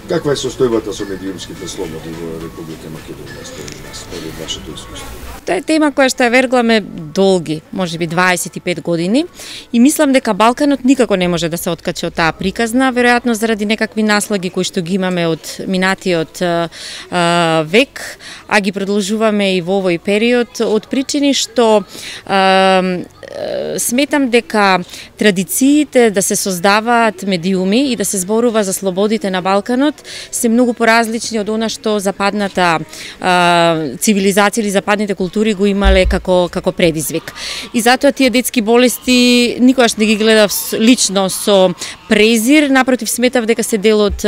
Каква е состојбата со медиумските слободи во Република Македонија според вашето искуство? Тоа е тема која што ја вергламе долги, можеби 25 години, и мислам дека Балканот никако не може да се откачи од таа приказна, веројатно заради некакви наслаги кои што ги имаме од минатиот век, а ги продолжуваме и во овој период, од причини што сметам дека традициите да се создаваат медиуми и да се зборува за слободите на Балканот се многу поразлични од она што западната цивилизација или западните култури го имале како предизвик. И затоа тие детски болести никогаш не ги гледав лично со презир, напротив сметав дека се дел од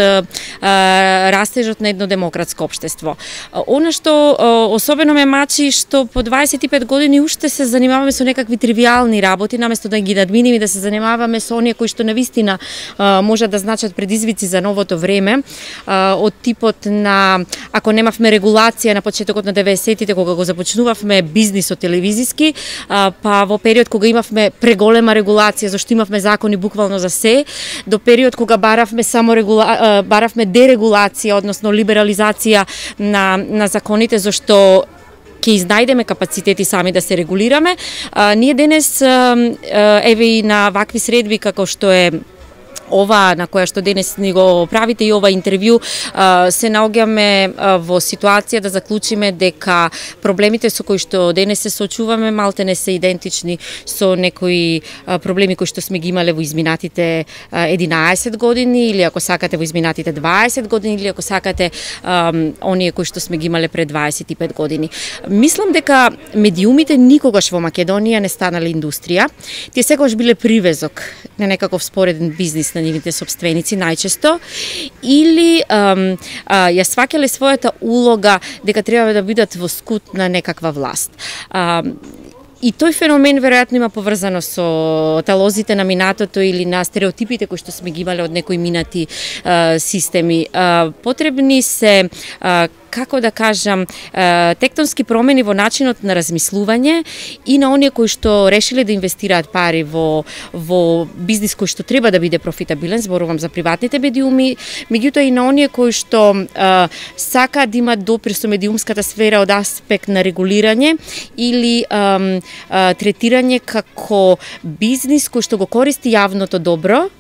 растежот на едно демократско општество. Она што особено ме мачи што по 25 години уште се занимаваме со некакви тривијални работи, наместо да ги надминеме и да се занимаваме со оние кои што навистина може да значат предизвици за новото време, од типот на, ако немавме регулација на почетокот на 90-тите кога го започнувавме бизнисот телевизиски, па во период кога имавме преголема регулација зашто имавме закони буквално за се, до период кога баравме баравме дерегулација, односно либерализација на законите зашто ќе изнајдеме капацитети сами да се регулираме. Ние денес еве и на вакви средби како што е ова на која што денес ни го правите и ова интервју, се наоѓаме во ситуација да заклучиме дека проблемите со кои што денес се соочуваме малте не се идентични со некои проблеми кои што сме ги имале во изминатите 11 години или ако сакате во изминатите 20 години или ако сакате оние кои што сме ги имале пред 25 години. Мислам дека медиумите никогаш во Македонија не станале индустрија. Тие секогаш биле привезок на некаков спореден бизнис на нивните собственици најчесто, или ја сваќале својата улога дека треба да бидат во скут на некаква власт. И тој феномен веројатно има поврзано со талозите на минатото или на стереотипите кои што сме ги имале од некои минати системи. Потребни се како да кажам, тектонски промени во начинот на размислување и на оние кои што решиле да инвестираат пари во бизнис кој што треба да биде профитабилен, зборувам за приватните медиуми, меѓутоа и на оние кои што сакаат да имат допринос со медиумската сфера од аспект на регулирање или третирање како бизнис кој што го користи јавното добро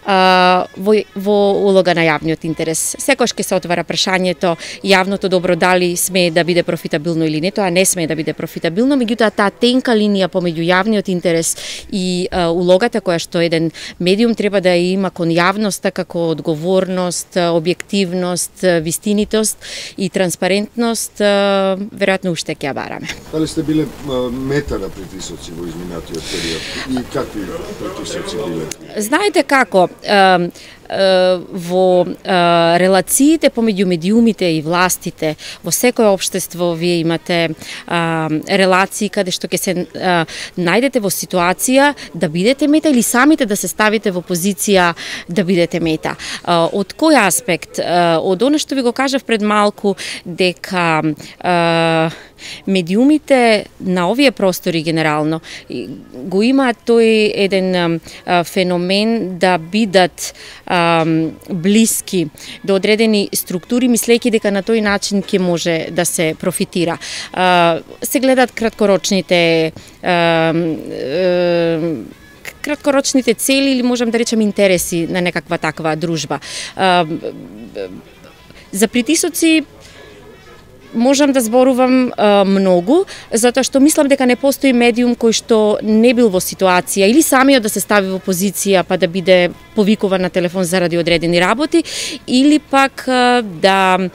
во улога на јавниот интерес. Секогаш ќе се отвара прашањето јавното добро дали смее да биде профитабилно или не, тоа не смее да биде профитабилно, меѓутоа таа тенка линија помеѓу јавниот интерес и улогата која што еден медиум треба да ја има кон јавноста како одговорност, објективност, вистинитост и транспарентност, веројатно уште ќе ја бараме. Дали сте биле мета на притисоци во изминатиот период и какви притисоци биле? Знаете како, во релациите помеѓу медиумите и властите во секое општество вие имате релации каде што ќе се најдете во ситуација да бидете мета или самите да се ставите во позиција да бидете мета. Од кој аспект? Од она што ви го кажав пред малку, дека медиумите на овие простори генерално го имаат тој еден феномен да бидат блиски до одредени структури, мислејќи дека на тој начин ќе може да се профитира. Се гледат краткорочните цели или можам да речем интереси на некаква таква дружба. За притисоци можам да зборувам многу, затоа што мислам дека не постои медиум кој што не бил во ситуација или самиот да се стави во позиција па да биде повикуван на телефон заради одредени работи, или пак да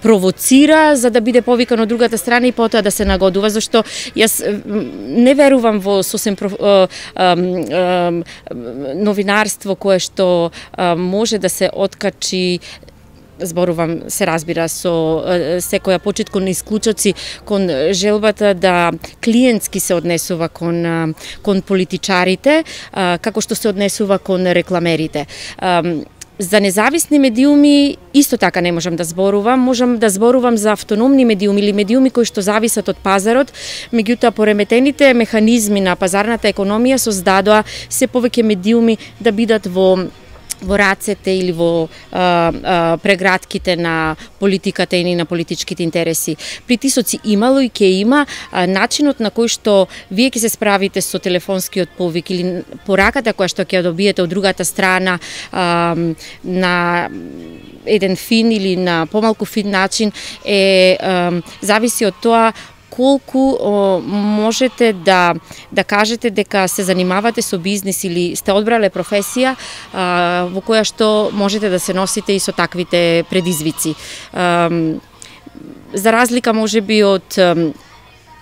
провоцира за да биде повикан од другата страна и потоа да се нагодува, зашто јас не верувам во сосем новинарство кое што може да се откачи, зборувам, се разбира, со секоја почит кон исклучоци, кон желбата да клиентски се однесува кон политичарите, како што се однесува кон рекламерите. За независни медиуми исто така не можам да зборувам, можам да зборувам за автономни медиуми или медиуми кои што зависат од пазарот, меѓутоа пореметените механизми на пазарната економија создадоа се повеќе медиуми да бидат во во рацете или во прегратките на политиката и на политичките интереси. Притисоци имало и ќе има. Начинот на кој што вие ќе се справите со телефонскиот повик или пораката која што ќе добиете од другата страна на еден фин или на помалку фин начин зависи од тоа колку можете да кажете дека се занимавате со бизнис или сте одбрале професија во која што можете да се носите и со таквите предизвици. За разлика можеби од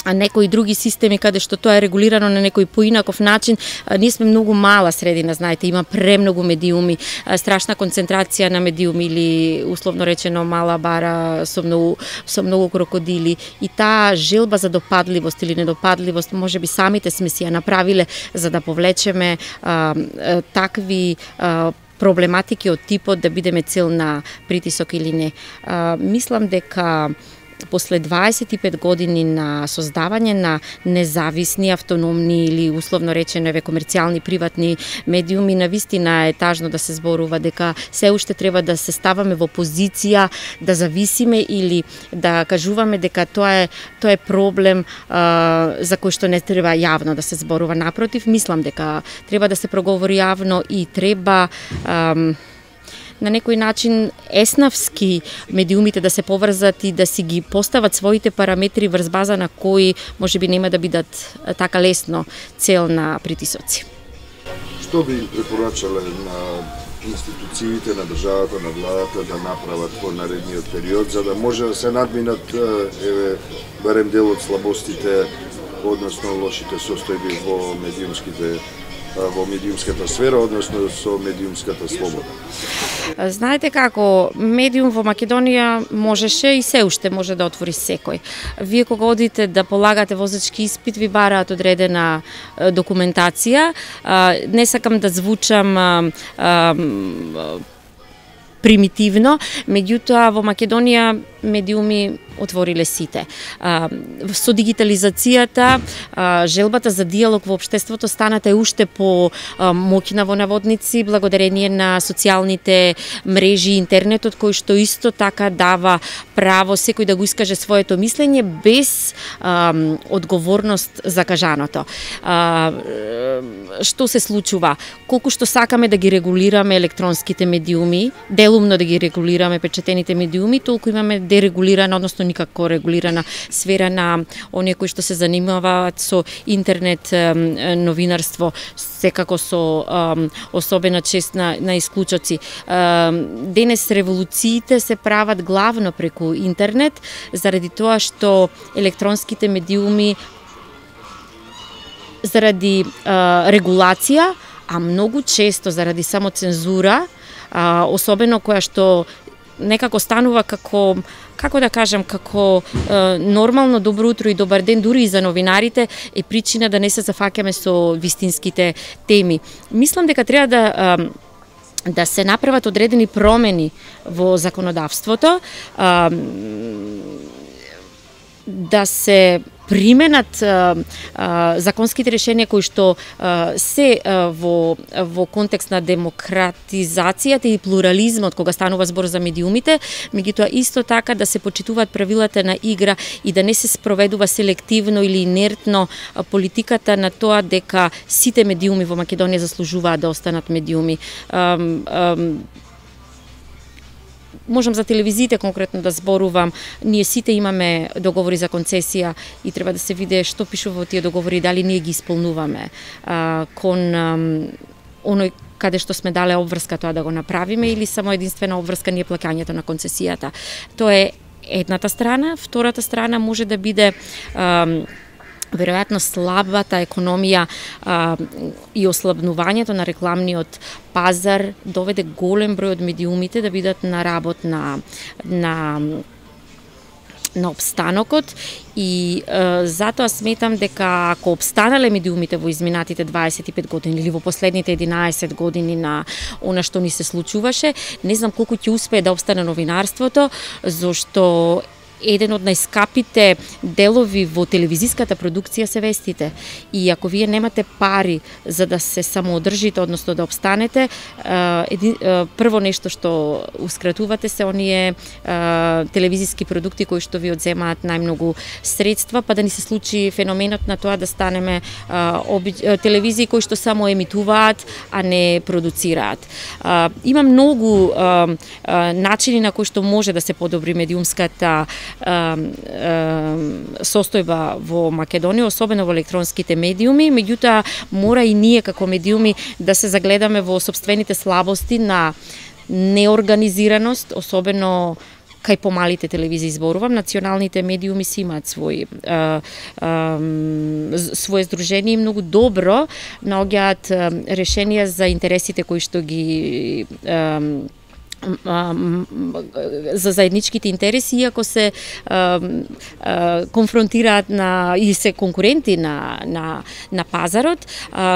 некои други системи каде што тоа е регулирано на некој поинаков начин, ние сме многу мала средина, знаете, има премногу медиуми, страшна концентрација на медиуми или условно речено мала бара со многу крокодили, и таа желба за допадливост или недопадливост можеби самите сме си ја направиле за да повлечеме такви проблематики од типот да бидеме цел на притисок или не. Мислам дека после 25 години на создавање на независни, автономни или условно речено комерцијални приватни медиуми, навистина е тажно да се зборува дека се уште треба да се ставаме во позиција да зависиме или да кажуваме дека тоа е проблем за кој што не треба јавно да се зборува. Напротив, мислам дека треба да се проговори јавно и треба на некој начин еснавски медиумите да се поврзат и да си ги постават своите параметри врз база на кои можеби нема да бидат така лесно цел на притисоци. Што би препорачале на институциите, на државата, на владата да направат во наредниот период за да може да се надминат барем дел од слабостите, односно лошите состојби во медиумската сфера, односно со медиумската слобода? Знаете како, медиум во Македонија можеше и се уште може да отвори секој. Вие кога одите да полагате возачки испит, ви бараат одредена документација. Не сакам да звучам примитивно, меѓутоа во Македонија медиуми отвориле сите. Со дигитализацијата, желбата за диалог во општеството станата уште по моќна во наводници, благодарение на социјалните мрежи, интернетот, кој што исто така дава право секој да го искаже своето мислење без одговорност за кажаното. Што се случува? Колку што сакаме да ги регулираме електронските медиуми, делумно да ги регулираме печатените медиуми, толку имаме дерегулирана, односно никако регулирана сфера на оние кои што се занимаваат со интернет новинарство, секако со особена чест на исклучоци. Денес револуциите се прават главно преку интернет, заради тоа што електронските медиуми заради регулација, а многу често заради самоцензура, особено која што некако станува како да кажам, како нормално добро утро и добар ден дури и за новинарите, е причина да не се зафаќаме со вистинските теми. Мислам дека треба да се направат одредени промени во законодавството, да се применат законските решенија кои што се во контекст на демократизацијата и плурализмот кога станува збор за медиумите, меѓутоа исто така да се почитуваат правилата на игра и да не се спроведува селективно или инертно политиката на тоа дека сите медиуми во Македонија заслужуваат да останат медиуми. Можам за телевизиите конкретно да зборувам, ние сите имаме договори за концесија и треба да се види што пишува во тие договори, дали ние ги исполнуваме кон оној каде што сме дале обврска тоа да го направиме или само единствена обврска ни е плаќањето на концесијата. Тоа е едната страна. Втората страна може да биде веројатно слабата економија и ослабнувањето на рекламниот пазар доведе голем број од медиумите да бидат на работ на обстанокот и затоа сметам дека ако обстанале медиумите во изминатите 25 години или во последните 11 години на она што ни се случуваше, не знам колку ќе успее да обстане новинарството, зашто еден од најскапите делови во телевизиската продукција се вестите. И ако вие немате пари за да се самоодржите, односно да обстанете, прво нешто што ускратувате се оние телевизиски продукти кои што ви одземаат најмногу средства, па да ни се случи феноменот на тоа да станеме телевизии кои што само емитуваат, а не продуцираат. Има многу начини на кои што може да се подобри медиумската состојба во Македонија, особено во електронските медиуми, меѓутоа мора и ние како медиуми да се загледаме во сопствените слабости на неорганизираност, особено кај помалите телевизии зборувам. Националните медиуми си имаат своје здружение и многу добро наоѓаат решенија за интересите кои што ги за заедничките интереси, иако се конфронтираат и се конкуренти на пазарот,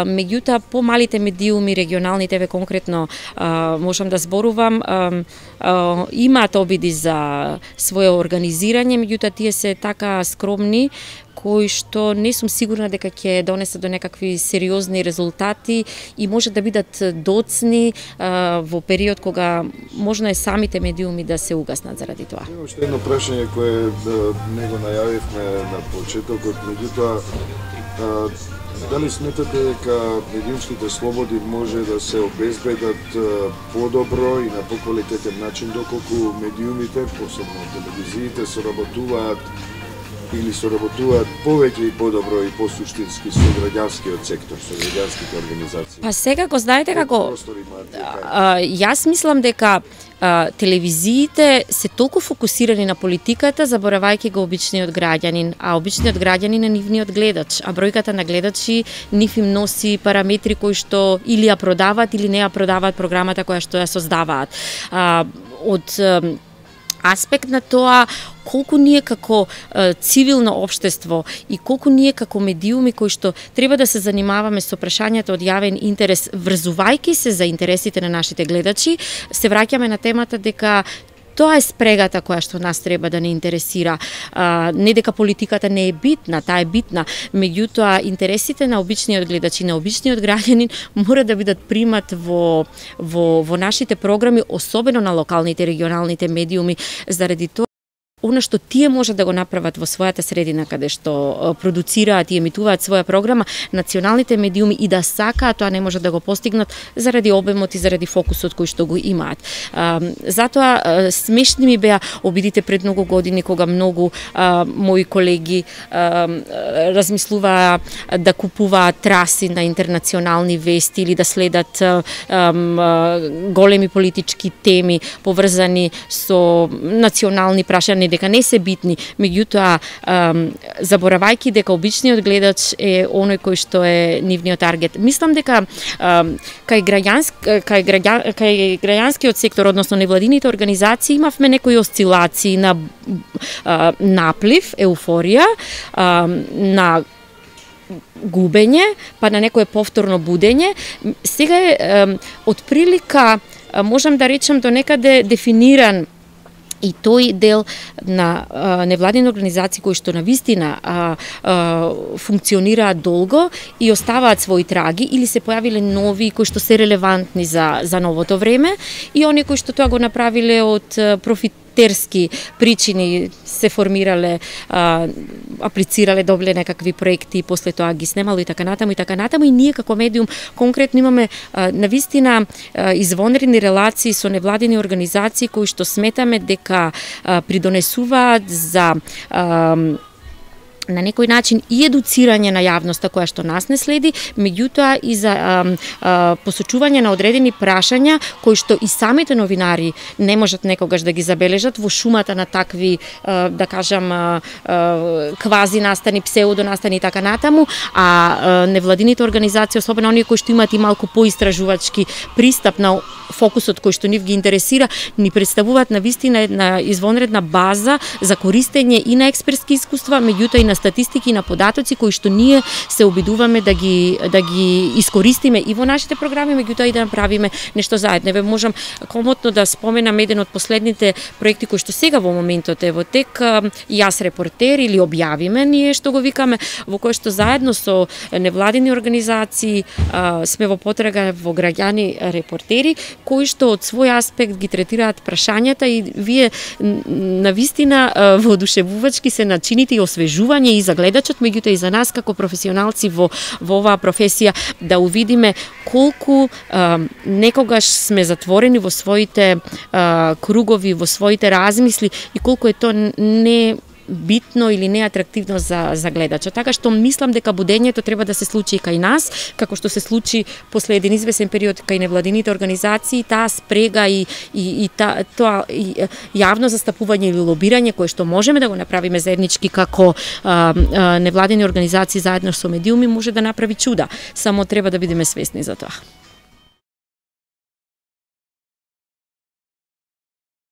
меѓутоа помалите медиуми, регионалните, еве конкретно можам да зборувам, имаат обиди за свое организирање, меѓутоа тие се така скромни кои што не сум сигурна дека ќе донесат до некакви сериозни резултати и може да бидат доцни во период кога можно е самите медиуми да се угаснат заради тоа. Има уште едно прашање кое не го најавивме на почетокот, меѓутоа дали сметате дека медиумските слободи може да се обезбедат подобро и на поквалитетен начин доколку медиумите, посебно телевизиите, соработуваат повеќе и подобро и посуштински со граѓанскиот сектор, со граѓанските организации? Па сега го знаете како, јас мислам дека телевизиите се толку фокусирани на политиката, заборавајќи го обичниот граѓанин, а обичниот граѓанин е нивниот гледач, а бројката на гледачи нив им носи параметри кои што или ја продаваат или не ја продаваат програмата која што ја создаваат. Од аспект на тоа колку ние како цивилно општество и колку ние како медиуми кои што треба да се занимаваме со прашањата од јавен интерес, врзувајќи се за интересите на нашите гледачи, се враќаме на темата дека тоа е спрегата која што нас треба да не интересира. Не дека политиката не е битна, таа е битна, меѓутоа интересите на обичниот гледач и на обичниот граѓанин мора да бидат примат во нашите програми, особено на локалните и регионалните медиуми, заради тоа она што тие може да го направат во својата средина каде што продуцираат и емитуваат своја програма, националните медиуми и да сакаат, тоа не може да го постигнат заради обемот и заради фокусот кој што го имаат. Затоа смешни ми беа обидите пред многу години кога многу мои колеги размислуваа да купуваат траси на интернационални вести или да следат големи политички теми поврзани со национални прашања дека не се битни, меѓутоа заборавајќи дека обичниот гледач е оној кој што е нивниот таргет. Мислам дека кај граѓанскиот сектор, односно невладините организации, имавме некои осцилации на наплив, еуфорија, на губење, па на некое повторно будење. Сега е отприлика, можам да речам, до некаде дефиниран и тој дел на невладини организации кои што навистина функционираат долго и оставаат своји траги, или се појавиле нови кои што се релевантни за новото време, и оние кои што тоа го направиле од профитерски причини, се формирале, аплицирале, добиле некакви проекти и после тоа ги снемало и така натаму, и ние како медиум конкретно имаме навистина извонредни релации со невладини организации кои што сметаме дека придонесуваат за на некој начин и едуцирање на јавноста која што нас не следи, меѓутоа и за посочување на одредени прашања кои што и самите новинари не можат некогаш да ги забележат во шумата на такви, да кажам, квази настани, псеудо настани и така натаму, а невладините организации, особено оние кои што имаат и малку поистражувачки пристап на фокусот кој што нив ги интересира, ни представуваат на вистина една извонредна база за користење и на експертски искуства, меѓутоа и на статистики и на податоци кои што ние се обидуваме да ги искористиме и во нашите програми, меѓутоа и да направиме нешто заедно. Еве можам комотно да споменам еден од последните проекти кои што сега во моментот е во тек, Јас репортер или објавиме, ние што го викаме, во кој што заедно со невладини организации сме во потрага во граѓани репортери кои што од свој аспект ги третираат прашањата и вие навистина воодушевувачки се начините и освежување и за гледачот, меѓутоа и за нас како професионалци во оваа професија да увидиме колку некогаш сме затворени во своите кругови, во своите размисли и колку е тоа не битно или неатрактивно за гледачот. Така што мислам дека будењето треба да се случи и кај нас, како што се случи после еден извесен период кај невладините организации, таа спрега и тоа јавно застапување или лобирање кое што можеме да го направиме заеднички како невладини организации заедно со медиуми може да направи чуда. Само треба да бидеме свесни за тоа.